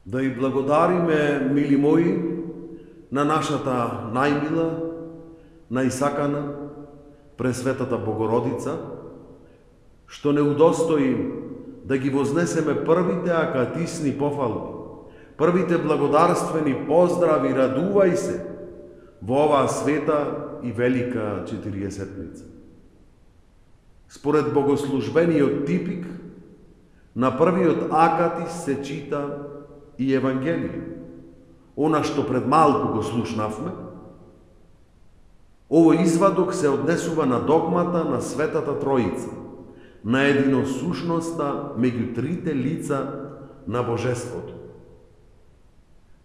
Да и благодариме, мили мои, на нашата најмила, најсакана, Пресветата Богородица, што не удостои да ги вознесеме првите акатисни пофалби, првите благодарствени поздрави, радувај се во оваа света и велика Четириесетница. Според богослужбениот типик, на првиот акатис се чита и Евангелие, она што пред малку го слушнавме. Овој извадок се однесува на догмата на Светата Троица, на единосушноста меѓу трите лица на Божеството.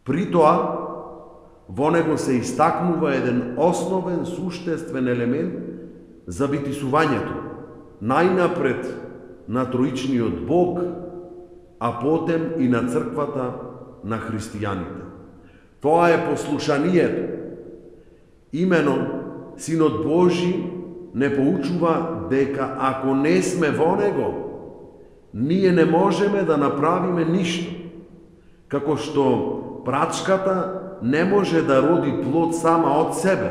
При тоа, во него се истакнува еден основен суштествен елемент за битисувањето, најнапред на Троичниот Бог, а потем и на црквата на христијаните. Тоа е послушанието. Имено, Синот Божи не поучува дека ако не сме во него, ние не можеме да направиме ништо. Како што прачката не може да роди плод сама од себе,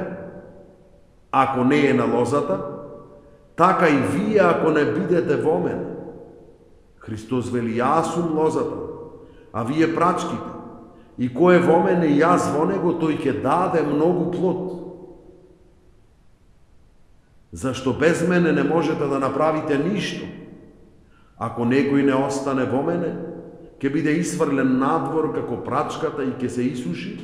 ако не е на лозата, така и вие ако не бидете во мене. Христос вели, јас сум лозата, а вие прачките. И кој е во мене и јас во него, тој ќе даде многу плод. Зашто без мене не можете да направите ништо. Ако некој не остане во мене, ќе биде исфрлен надвор како прачката и ќе се исуши,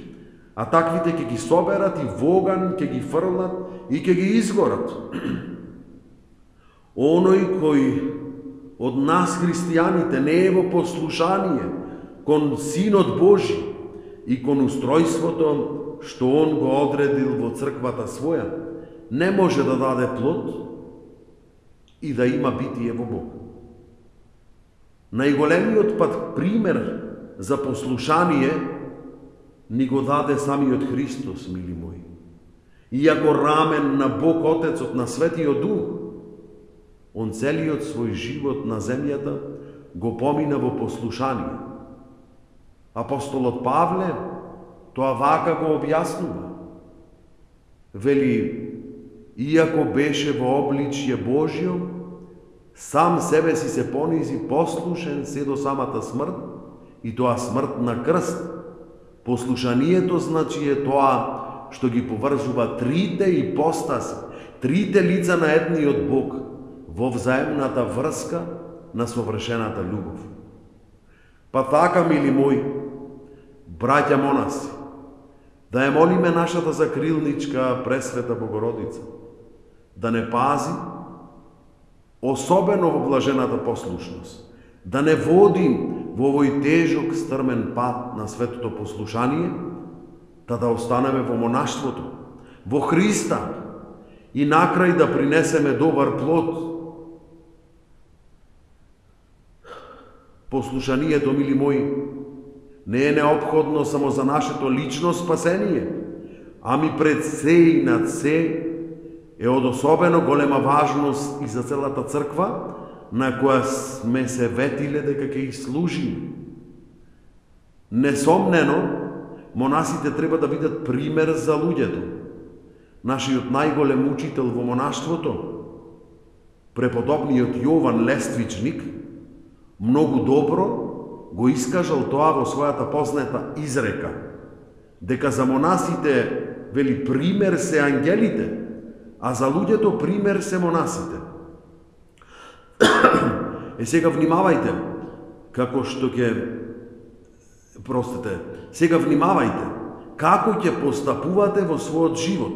а таквите ќе ги соберат и во оган ќе ги фрлат и ќе ги изгорат. Оној кој од нас христијаните не е во послушание кон Синот Божи и кон устројството што Он го одредил во црквата своја, не може да даде плод и да има битие во Бог. Најголемиот пат пример за послушание ни го даде самиот Христос, мили мои. Иако рамен на Бог Отецот на Светиот Дух, Он целиот свој живот на земјата го помина во послушание. Апостолот Павле тоа вака го објаснува. Вели, иако беше во обличје Божјо, сам себе си се понизи послушен се до самата смрт, и тоа смрт на крст. Послушанието значи е тоа што ги поврзува трите ипостаси, трите лица на едниот Бог во взаемната врска на совршената љубов. Па така, мили мои, браќа монаси, да ја молиме нашата закрилничка Пресвета Богородица, да не пази, особено во блажената послушност, да не води во овој тежок стрмен пат на светото послушание, да останеме во монаштвото, во Христа и накрај да принесеме добар плод. Послушанието, мили мои, не е неопходно само за нашето лично спасение, ами пред се и над се е од особено голема важност и за целата црква, на која сме се ветиле дека ќе ги служиме. Несомнено, монасите треба да бидат пример за луѓето. Нашиот најголем учител во монаштвото, преподобниот Јован Лествичник, многу добро го искажал тоа во својата позната изрека, дека за монасите, вели, пример се ангелите, а за луѓето пример се монасите. Сега внимавајте, како што сега внимавајте, како ќе постапувате во својот живот,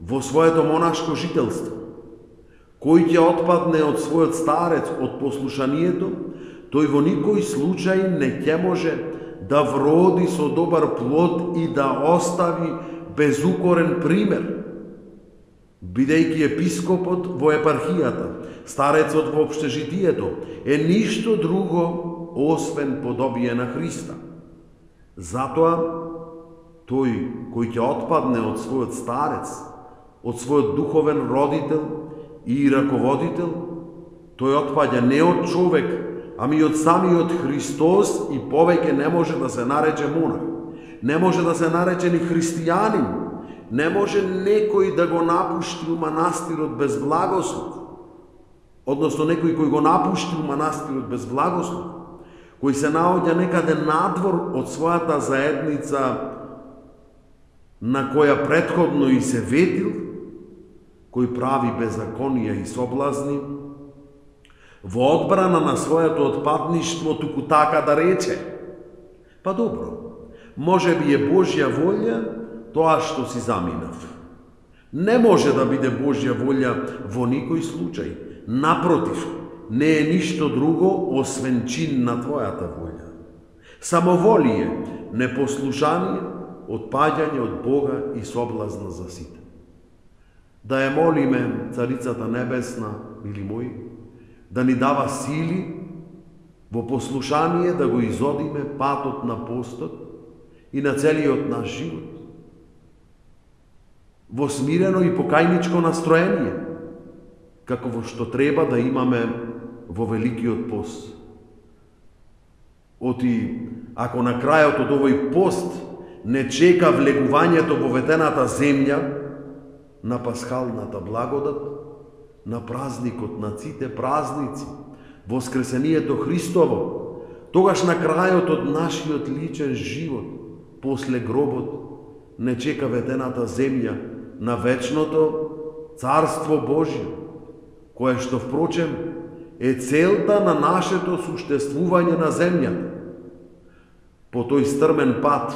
во своето монашко жителство. Кој ќе отпадне од својот старец, од послушанието, тој во никој случај не ќе може да вроди со добар плод и да остави безукорен пример. Бидејќи епископот во епархијата, старецот во општежитието, е ништо друго освен подобие на Христа. Затоа, тој кој ќе отпадне од својот старец, од својот духовен родител и раководител, тој отпаѓа не од човек, ами од самиот Христос и повеќе не може да се нарече монах. Не може да се нарече ни христијанин. Не може некој да го напушти у манастирот без благослов. Односно некој кој го напушти у манастирот без благослов, кој се наоѓа некаде надвор од својата заедница на која претходно и се ветил, кој прави беззаконија и соблазни, во одбрана на своето отпадништво туку така да рече: па добро, може би е Божја волја тоа што си заминав. Не може да биде Божја волја во никој случај. Напротив, не е ништо друго освен чин на твојата волја. Самоволие, непослушание, отпаѓање од Бога и соблазна за сите. Да ја молиме Царицата Небесна, мили мои, да ни дава сили во послушание да го изодиме патот на постот и на целиот наш живот. Во смирено и покајничко настроение, како во што треба да имаме во Великиот пост. Оти, ако на крајот од овој пост не чека влегувањето во ветената земја, на пасхалната благодат, на празникот на сите празници, Воскресението Христово, тогаш на крајот од нашиот личен живот, после гробот, не чека ветената земја на вечното Царство Божие, кое што впрочем е целта на нашето суштествување на земјата. По тој стрмен пат,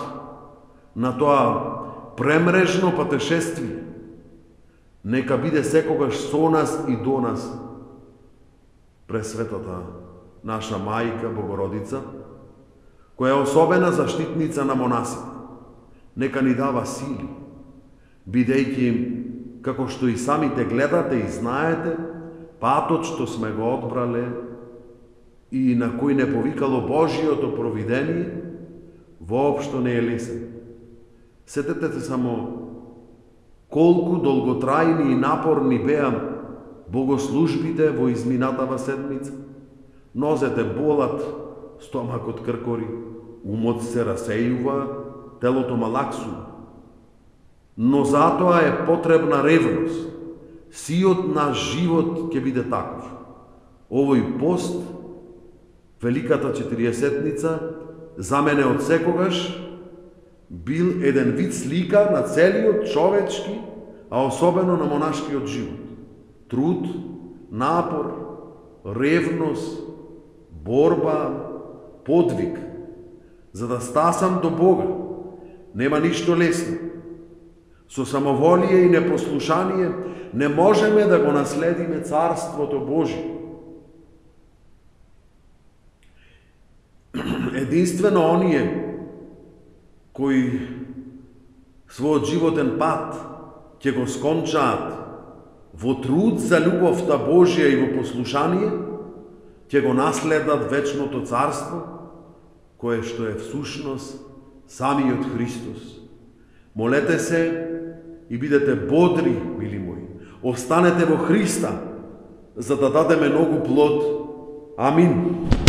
на тоа премрежно патешествие, нека биде секогаш со нас и до нас Пресветата наша Мајка Богородица, која е особена заштитница на монасите. Нека ни дава сили, бидејќи, како што и самите гледате и знаете, патот што сме го одбрале и на кој не повикало Божиото провидение, воопшто не е лесен. Сетете се само колку долготрајни и напорни беа богослужбите во изминатава седмица. Нозете болат, стомакот кркори, умот се расејува, телото малаксува. Но затоа е потребна ревност. Сиот наш живот ќе биде таков. Овој пост, Великата Четириесетница, за мене од секогаш бил еден вид слика на целиот човечки, а особено на монашкиот живот. Труд, напор, ревност, борба, подвиг, за да стасам до Бога. Нема ништо лесно. Со самоволие и непослушание не можеме да го наследиме Царството Божие. Единствено оние кои својот животен пат ќе го скончаат во труд за љубовта Божија и во послушание, ќе го наследат вечното царство, кое што е всушност самиот Христос. Молете се и бидете бодри, мили мои. Останете во Христа, за да дадеме многу плод. Амин.